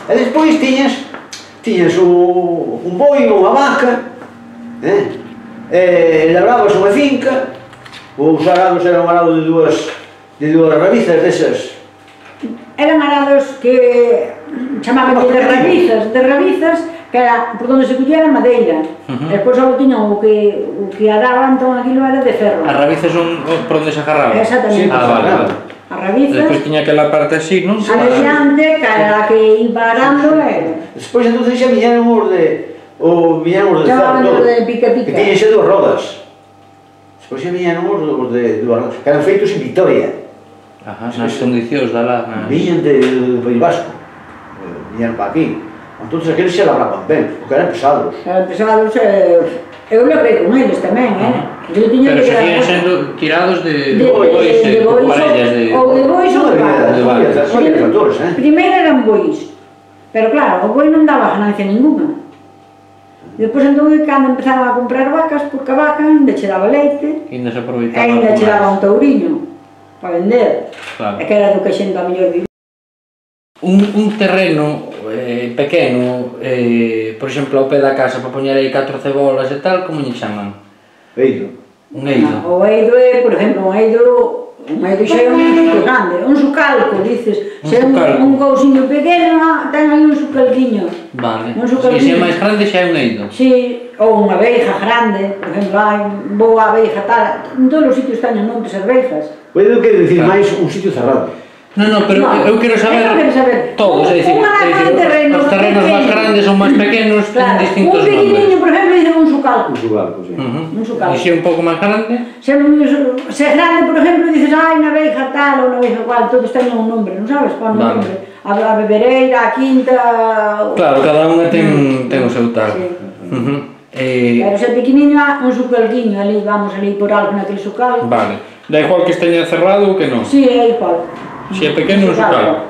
E despois tiñas un boi ou unha vaca, labrabas unha finca, os arados eran un arado de dúas rabizas desas. Eran arados que chamaban de rabizas, que era por donde se collera madeira. Despois só tiñan o que araban, entón aquilo era de ferro. As rabizas son por onde se agarraban? Exactamente. Vale. As rabizas... Despois tiña aquela parte así, non? Adiante, que era a que iba arando era... Despois entonces xa viñeron os de ferro, que tiñen xe dúas rodas. Despois xa viñeron os de dúas rodas, que eran feitos en Vitoria. Nas condicións da lá... Viñen do País Vasco, viñeron para aquí. Entón aqueles xa labraban ben, porque eran pesados. Eran pesados, eu labrei con eles tamén, Pero seguían sendo tirados de bois, parellas de... Ou de bois ou de vacas. Primeiro eran bois, pero claro, o boi non daba ganancia ninguna. Depois entón, cando empezaron a comprar vacas, porque a vaca ainda che daba leite, ainda se aproveitaba, ainda che daba un tauriño para vender, e que era do que a xente a mellor vivía. Un terreno pequeno, por exemplo, ao pé da casa, para poñer aí 4 cebolas e tal, como lle chaman? Eido. Un eido. O eido é, por exemplo, un eido xa é un sitio grande, un sucalco, dices, se é un cousiño pequeno, ten aí un sucalquiño. Vale, se é máis grande xa é un eido. Si, ou unha abeixa grande, por exemplo, hai boa abeixa tal, en todos os sitios teñen montes e abeixas. Pode querer dicir máis un sitio cerrado. Non, pero eu quero saber todos, é dicir, os terrenos máis grandes ou máis pequenos ten distintos nombres. Un pequeniño, por exemplo, dicen un sucalco. Un sucalco, sí. E se é un pouco máis grande? Se é grande, por exemplo, dices, unha abeixa tal ou unha abeixa cual, todos teñen un nombre, non sabes qual nombre? A bebereira, a quinta... Claro, cada unha ten o seu tal. Pero se é pequeniño, un sucalquiño, ali vamos ali por algo naquele sucalco. Vale, da igual que esteña cerrado ou que non? Si, é igual. Se é pequeno, un sucalco.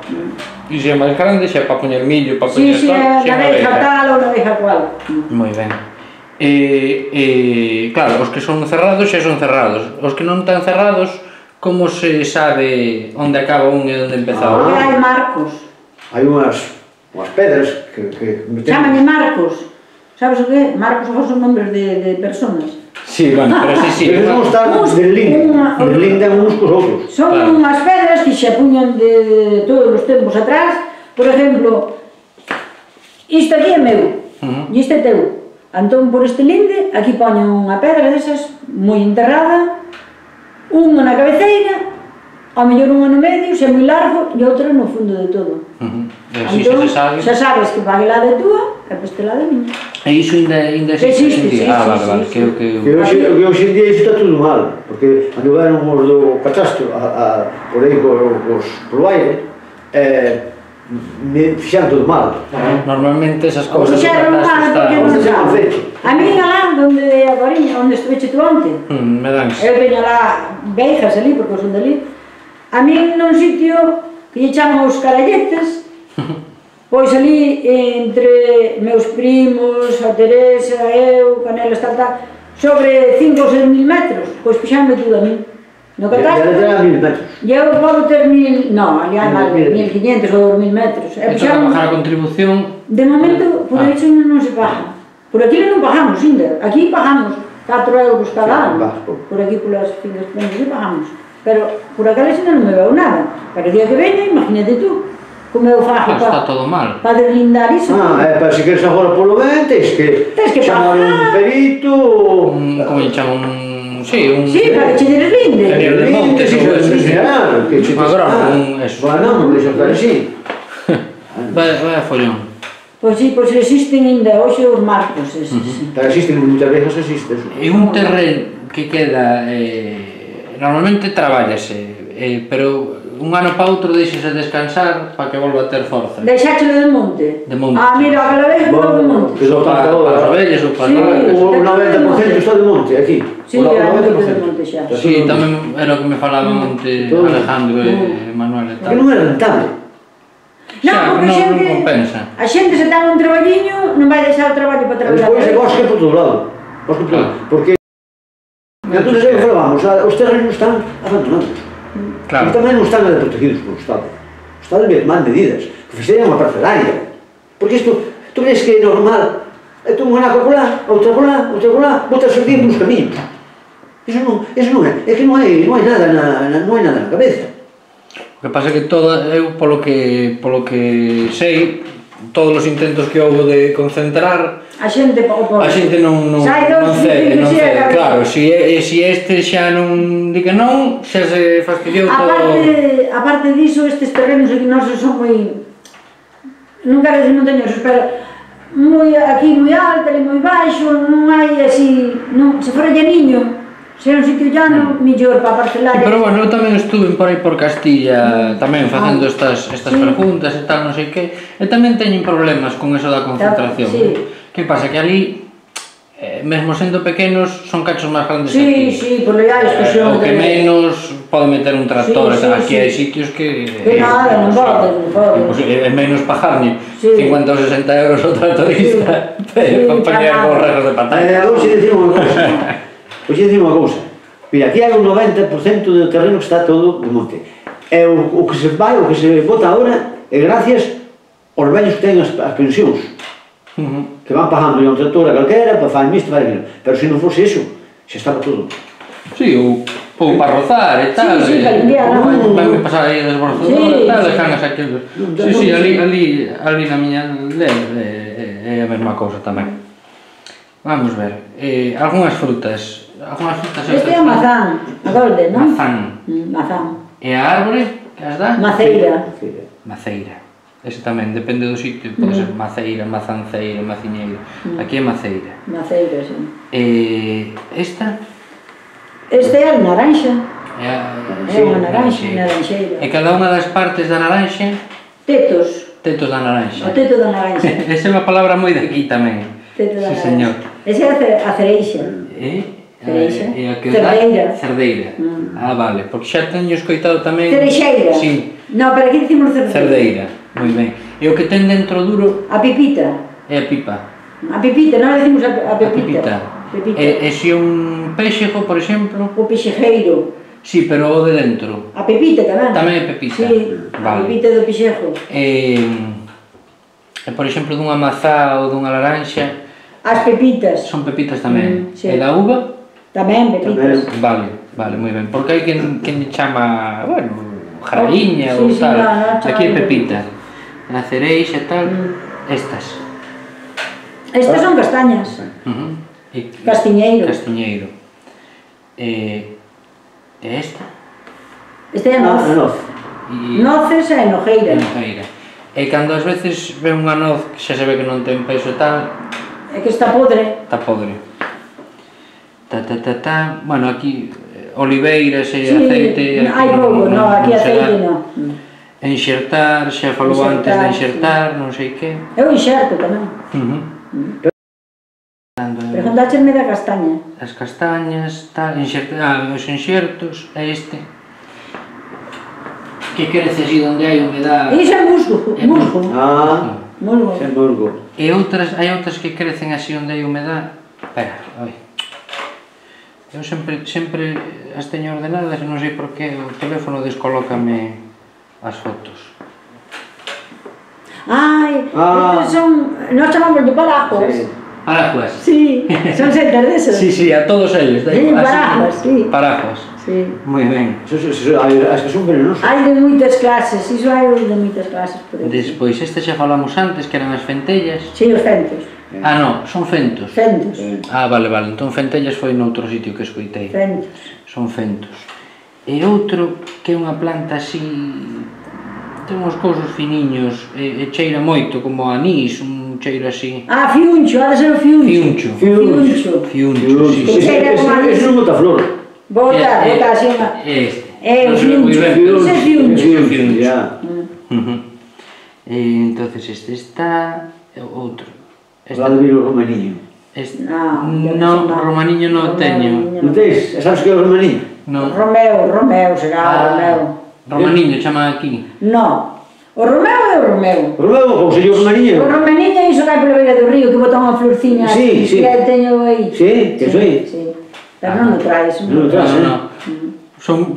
E se é máis grande, xa é para poñer millo, para poñer tal, se é unha abeixa tal ou unha abeixa cual. Moi ben. Claro, os que son cerrados xa son cerrados. Os que non están cerrados, como se sabe onde acaba un e onde empeza o outro? Hai marcos. Hai unhas pedras que... Chámanlle marcos. Sabes o que é? Marcos son nombres de personas. Sí, bueno, pero sí. Eles non están deslindan uns cos outros. Son unhas pedras que se puñan de todos os tempos atrás. Por exemplo, isto aquí é meu, e isto é teu. Entón, por este linde, aquí poñen unha pedra desas, moi enterrada, unha na cabeceira, ao mellor unha no medio, se é moi largo, e outra no fundo de todo. Entón, xa sabes que para aquela de túa, e para este lado é miña. E iso ainda existe hoxe en día? Vale, que hoxe en día iso está tudo mal, porque anduveron os do catastro por aí polo aire, fixeron todo mal. Normalmente esas cousas do catastro están... A mí alá, onde estuveche tú onte, eu veño alá veixas ali, porque son dali, a mí nun sitio que lle chaman os caralletes, pois ali entre meus primos, a Teresa, eu, Canelas, tal, sobre 5 ou 6 mil metros, pois fixanme tudo a mí. No catastro, e eu podo ter 1000, non, ali hai máis, 1500 ou 2000 metros. E toca pagar a contribución? De momento, por aí non se paga. Por aquí non pagamos, ainda. Aquí pagamos 4 euros cada ano. Por aquí, polas finas prendas, pagamos. Pero por acá non me veo nada. Pero o día que veña, imagínate tú, como eu fago para deslindar iso. Para se queres agora polo ben, tens que chamar un perito... Como lle chaman? Sí, para que che deslinde. De montes ou eso. Un agrónomo, eso. Bueno, non deixo estar así. Vai a follón. Pois sí, pois existen ainda hoxe os marcos eses. Existen, moitas veces existe. E un terreno que queda... Normalmente traballase, pero un ano para outro deixase descansar para que volva a ter forza. Deixáchelo de monte? De monte. Mira, aquela vez que está de monte. Para as ovellas ou para as vacas. O 90% está de monte, aquí. Sí, hai moito de monte xa. Sí, tamén era o que me falaban onte Alejandro e Manuel e tal. Que non é rentable. Non, porque a xente se ten un traballiño, non vai deixar o traballo para traballar. Despois é bosque por todo lado. Porque... Entón, é que falábamos, os terrenos están abandonados. E tamén non están protegidos polo Estado. O Estado debe tomar medidas, que fixeran unha parcelaria. Porque isto, tú crees que é normal? Tú unha naca colá, outra colá, botas o día nos camiños. Eso non é que non hai nada na cabeza. O que pasa é que eu, polo que sei, todos os intentos que houve de concentrar, a xente non cede. Claro, se este xa non di que non, xa se fastidiou todo. Aparte diso, estes terrenos aquí nosos son moi, non quero dicir montañosos, pero aquí moi alto, ali moi baixo, non hai así, se fora llaniño, se é un sitio llano, millor para parcelar. Pero bueno, eu tamén estuve por aí por Castilla tamén facendo estas preguntas e tal, non sei que, e tamén teñen problemas con eso da concentración. Que pasa? Que ali, mesmo sendo pequenos, son cachos máis grandes que aquí. Sí, por legal, o que menos pode meter un tractor, aquí hai sitios que... Que nada, non pode. É menos pagarme 50 ou 60 euros o tractorista para poñer borregos de pantalla. Pois dicir unha cousa, mira, aquí hai un 90% do terreno que está todo de monte. E o que se vai, o que se bota agora, é gracias aos vellos que ten as pensións, que van pagando a un tractor a calquera, para fazer isto, para aquilo. Pero se non fose iso, xa estaba todo. Sí, ou para rozar e tal. Sí, para limpiar, non? Vai pasar aí a desbrozadora e tal, dejanas aquilo. Sí, ali na miña aldea é a mesma cousa tamén. Vamos ver, algunhas frutas. Este é a mazán, a golden, non? Mazán. E a árbore, que as dá? Maceira. Maceira. Ese tamén, depende do sitio, pode ser maceira, mazanceira, maciñeira. Aquí é maceira. Maceira, sí. Esta? Esta é a naranxa. É unha naranxeira. E cada unha das partes da naranxa? Tetos. Tetos da naranxa. O teto da naranxa. Esa é unha palabra moi de aquí tamén. Teto da naranxa. Sí, señor. Esa é a cereixa. Cerdeira. Cerdeira. Vale, porque xa teño escoitado tamén... Cereixeira. Sí. Non, pero aquí dicimos cerdeira. Cerdeira, moi ben. E o que ten dentro duro... A pipita. É a pipa. A pipita, non decimos a pepita. E se un pexego, por exemplo... O pexejeiro. Sí, pero o de dentro. A pepita tamén. Tamén é pepita. Sí, a pepita do pexego. E, por exemplo, dunha mazá ou dunha laranxa... As pepitas. Son pepitas tamén. E da uva? Tamén, pepitas. Vale, moi ben. Porque hai quen chama, bueno, jaradiña ou tal. Aquí é pepita. A cereixa e tal. Estas. Estas son castañas. Castiñeiro. Castiñeiro. E esta? Esta é a noz. Noces e nojeira. E cando ás veces ve unha noz que xa se ve que non ten peso e tal... É que está podre. Está podre. Bueno, aquí oliveiras e aceite... Hai pouco, non, aquí aceite non. Enxertar, xa falou antes de enxertar, non sei que... Eu enxerto tamén. Preguntácheme da castaña. As castañas, os enxertos, é este. Que crece así onde hai humedade... Iso é musgo. Musgo. Musgo. É musgo. E hai outras que crecen así onde hai humedade... Espera, oi. Eu sempre as teño ordenadas e non sei por que o teléfono descolócame as fotos. Estes son... Nós chamamos de parajuas. Parajuas? Sí, son setas desos. Sí, a todos eles. Parajuas, sí. Parajuas. Sí. Moi ben. As que son venenosas. Hai de moitas clases, iso hai de moitas clases. Despois, este xa falamos antes, que eran as fentellas. Sí, os fentos. Non, son fentos. Fentos. Vale, entón fentellas foi noutro sitio que escoitei. Fentos. Son fentos. E outro que é unha planta así... Ten uns cousos finiños e cheira moito, como anís, un cheiro así... Fiuncho, ha de ser o fiuncho. Fiuncho, sí. Que cheira como anís. Ese non bota flor. Bota así unha... Este. É o fiuncho. Ese é fiuncho. Entonces este está... Outro. Lá de vir o romaniño. Non, romaniño non teño. Non tens? Sabes que é o romaniño? Non. Romeu, será Romeu. Romaniño chama aquí? Non. O Romeu é o Romeu. O Romeu, ou sería o romaniño? O romaniño é iso que hai pola beira do río, que bota unha florciña que teño aí. Sí, que soy. Pero non o traes. Non o traes, non.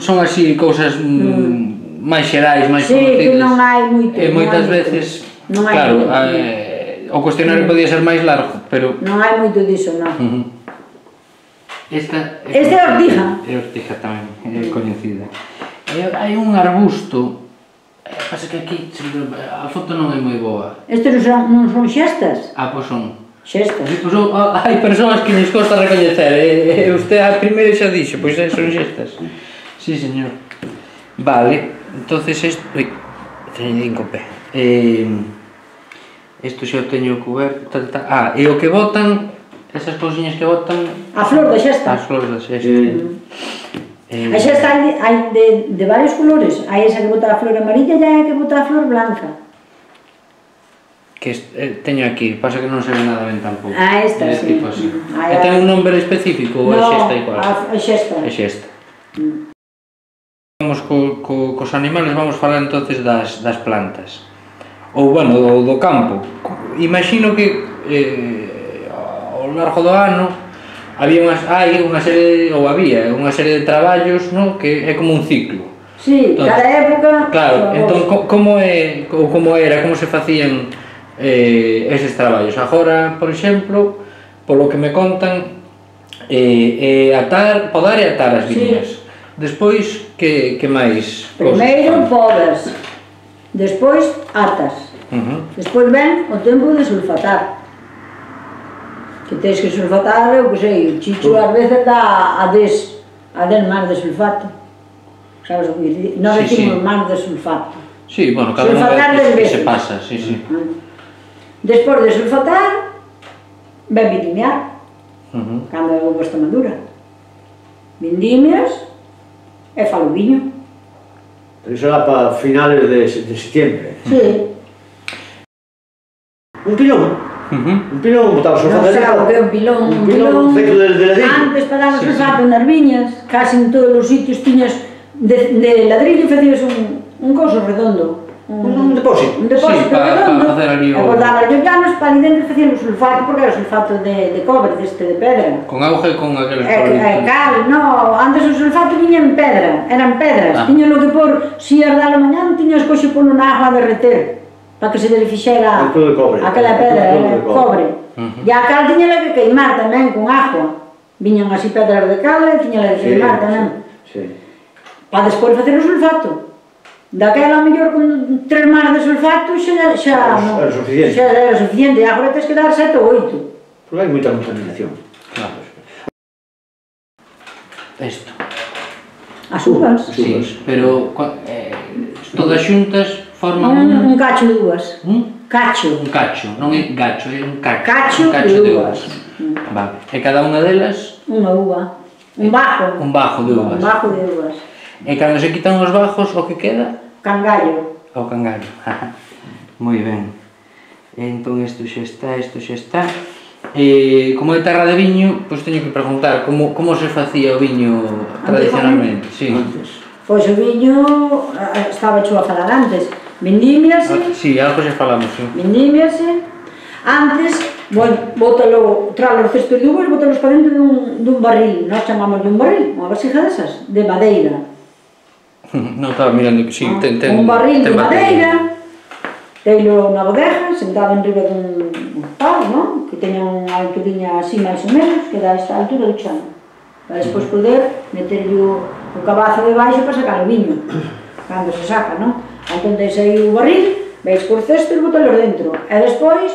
Son así cousas máis xerais, máis conocidas. Sí, que non hai moito. E moitas veces, claro, o cuestionario podía ser máis largo, pero... Non hai moito diso, non. Esta é ortiga. É ortiga tamén, é coñecida. Hai un arbusto, pasa que aquí a foto non é moi boa. Estes non son xestas? Pois son. Xestas. Hai persoas que nos costa recoñecer, e usted a primeira xa dixo, pois son xestas. Sí, señor. Vale, entonces isto... Ui, teño din co pé. Isto xa o teño cuberto, e o que botan, esas cousiñas que botan... A flor da xesta. As flores da xesta. A xesta hai de varios colores. Hai esa que bota a flor amarilla e hai a que bota a flor blanca. Que teño aquí, pasa que non se ve nada ben tampouco. Esta, sí. E ten un nombre específico ou é xesta igual? Non, é xesta. É xesta. Vamos cos animales, vamos falar entonces das plantas. Ou, bueno, do campo. Imagino que ao largo do ano hai unha serie de traballos, que é como un ciclo. Sí, cada época... Claro, entón, como se facían eses traballos? Agora, por exemplo, polo que me contan, podar e atar as viñas. Despois, que máis? Primeiro podas, despois atas. Despois ven o tempo de sulfatar. Que tens que sulfatar, eu que sei, o chicho ás veces dá a 10 máis de sulfato. Sabes o que dice? Non decimos máis de sulfato. Sí, bueno, cada unha vez que se pasa, sí. Despois de sulfatar, ven vendimiar, cando a uva está madura. Vendimias e falo viño. Pero iso era para finales de setembro. Sí. Un pilón. Un pilón botaba sulfato. Non sei o que é un pilón. Un pilón feito de ladrillo. Antes para dar sulfato nas viñas, casi en todos os sitios tiñas de ladrillo, facías un coso redondo. Un depósito. Un depósito redondo. Para facer ali o... E guardaban os llanos para ali dentro facían o sulfato, porque era sulfato de cobre, de pedra. Con auga e con aqueles politos. Cal, no, antes o sulfato viña en pedra, eran pedras. Tiñas lo que por, si as da la mañán, tiñas coxe polo na agua a derreter, para que se desfixera aquela pedra, era cobre. E a cal tiña que queimar tamén con agua. Viñan así pedras de cal e tiña que queimar tamén. Para despois facer o sulfato. Daquela, a mellor, con 3 máis de sulfato xa era suficiente. E agora tens que dar 7 ou 8. Porque hai moita contaminación. Claro. Isto. As uvas? Sí, pero todas xuntas forman un cacho de uvas. Cacho. Un cacho, non é gacho, é un cacho. Cacho de uvas. Vale. E cada unha delas? Unha uva. Un bajo. Un bajo de uvas. Un bajo de uvas. E cando se quitan os bajos, o que queda? Cangallo. O cangallo. Moi ben. Entón isto xa está. Como é terra de viño, pois teño que preguntar como se facía o viño tradicionalmente. Pois o viño, estaba xo a falar antes, vendímiase. Si, algo xa falamos, si. Vendímiase. Antes, bótalo, tras os cestos de uvas, bótalos para dentro dun barril. Nós chamamos de un barril, unha vasija desas, de madeira. Non estaba mirando que si, ten un barril de madeira, teilo na bodega, sentado en riba dun pau, non? Que teña unha alturinha así máis ou menos, que dá esta altura do chan. Para despois poder meterlle o cabazo de baixo para sacar o viño, cando se saca, non? Entón tens aí o barril, veis cos cestos e botalos dentro. E despois,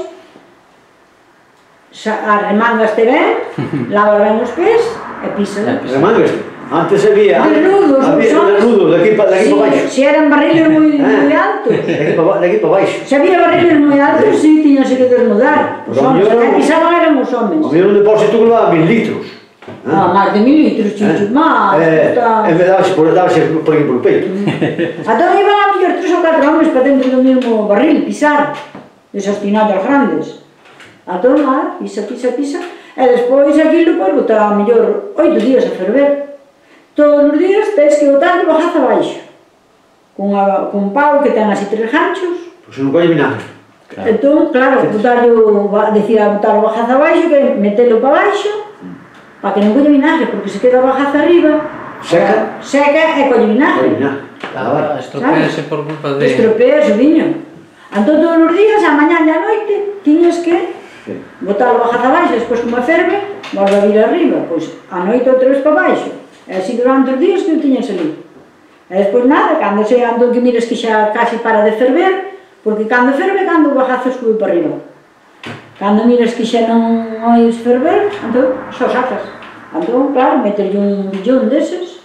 arremangaste ben, lavas ben os pés e pisa. Arremangaste? Antes había desnudos de aquí para baixo. Si eran barriles moi altos. De aquí para baixo. Se había barriles moi altos, si, tiñase que desnudar. Os homens, que pisaban eran os homens. O mellor un depósito que levaba 1000 litros. Máis de 1000 litros, chicho, máis. E me dabase por aquí por peito. Entón iban a mellor 3 ou 4 homens para dentro do mesmo barril, pisar. Desas tinallas grandes. Entón, pisa. E despois aquilo, pois, botar a mellor 8 días a ferver. Todos os días tens que botar de bajaza abaixo. Con un pau que ten así 3 ganchos. Pois non colle vinagre. Entón, claro, botar o bajaza abaixo, que metelo para baixo, para que non colle vinagre, porque se queda a bajaza arriba, seca e colle vinagre. Estropease por culpa de... Estropease o viño. Entón, todos os días, a mañá e a noite, tiñas que botar o bajazo abaixo, despois como ferve, volve a vir arriba, pois a noite outra vez para baixo. E así durante os días que o tiñas ali. E despois nada, cando se ando que mires que xa casi para de ferver, porque cando ferve, cando o bajazo sube para arriba. Cando miras que xa non ois ferver, entón, só sacas. Entón, claro, meterlle un billón deses,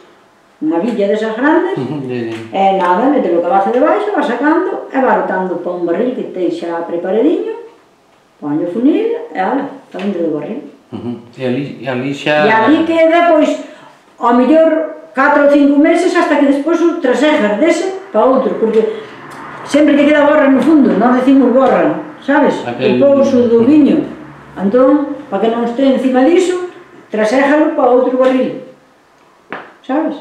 unha villa desas grandes, e nada, meter o cabazo debaixo, vas sacando, e vas botando para un barril que te xa preparadiño, poño o funil, e ala, está dentro do barril. E ali xa... E ali queda, pois, ao mellor 4 ou 5 meses, hasta que despois o trasejas dese para outro, porque sempre que queda borra no fundo, non decimos borra, sabes? O pouso do viño. Entón, para que non este encima diso, traséjalo para outro barril, sabes?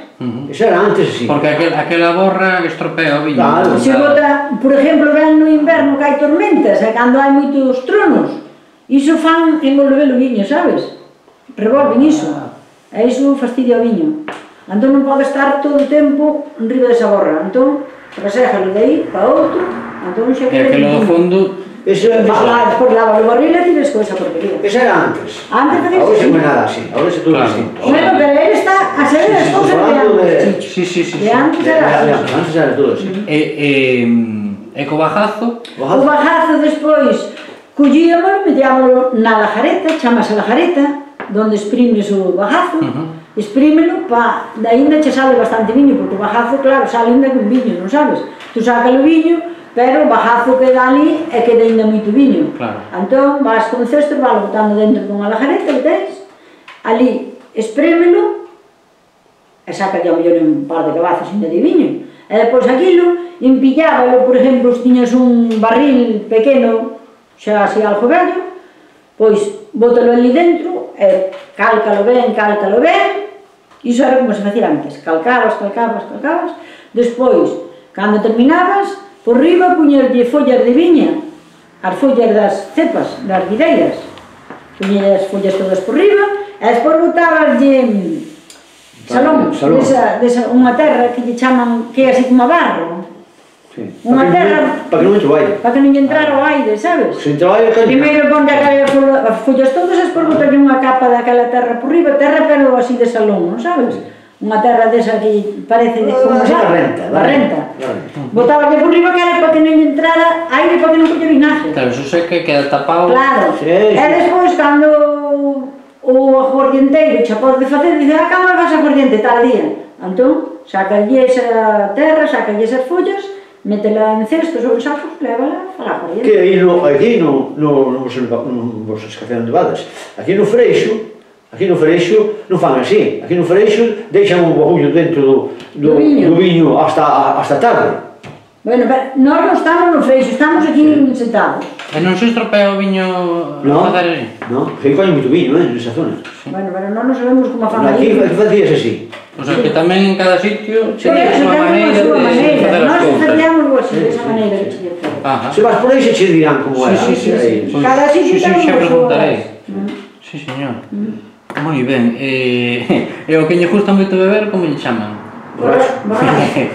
Eso era antes, sí. Porque aquela borra estropea o viño. Claro. Se bota, por exemplo, ven no inverno que hai tormentas, e cando hai moitos tronos, iso fan envolver o viño, sabes? Revolven iso, e iso fastidia o viño. Entón non pode estar todo o tempo enriba desa borra, entón, traséjalo de aí para outro, entón xa queda... E aquilo do fondo... Despois lava o barril e tires con esa porquería. Eso era antes. Antes de ahora non é nada así, ahora é todo distinto. Bueno, pero él está a saber as cousas de antes, Chicho. Sí. De antes era así. Antes era todo así. E co bajazo? O bajazo despois collíamolo, metíamolo na lajareta, chamase lajareta, donde exprimes o bajazo, exprímelo para, ainda che sale bastante viño, porque o bajazo, claro, sale ainda con viño, non sabes? Tú sacas o viño, pero o bajazo queda ali e queda ainda moito viño. Entón, vas con cesto, vas botando dentro dunha lajareta que tens, ali, exprímelo, e saca ao mellor un par de cabazos ainda de viño. E depois aquilo, empillábalo, por exemplo, se tiñas un barril pequeno, xa así algo vello, pois bótalo ali dentro e cálcalo ben, iso era como se facía antes, calcabas, despois, cando terminabas, por riba puñerlle follas de viña, as follas das cepas, das videiras, puñerlle as follas todas por riba, e despois botabaslle salón, unha terra que lle chaman, que é así como a barro, unha terra para que non entre o aire, para que non lle entrara o aire, sabes? Se entra o aire, primeiro ponte as follas todas e despois botalle unha capa daquela terra por riba, terra pero así de salón, non sabes? Unha terra desa que parece como barrenta. Botaballe por riba que era para que non lle entrara aire, para que non colle vinagre. Claro, eso sei que queda tapado. Claro, e despois cando o aguardienteiro xa pode facer, dice, cando vas a aguardiente tal día. Entón, sacalle esa terra, sacalle esas follas, métela en cestos ou en sacos, lévala a la aguardiente. Que aí non vos escacean de badas. Aquí no Freixo non fan así. Aquí no Freixo deixan un bagullo dentro do viño hasta tarde. Bueno, pero nós non estamos no Freixo, estamos aquí sentados. E non se estropea o viño a facer así? Non, que aí fai moito viño, nesa zona. Bueno, pero non sabemos como fan aí. Aquí facías así. O sea, que tamén en cada sitio se ten unha maneira de facer as cousas. Nós facíamos así, desa maneira que se lle fai. Se vas por aí se che dirán como era. Cada sitio ten unha preguntarei. Sí, señor. Moi ben. E o que lle gusta moito beber, como lle chaman? Borracho. Moi ben.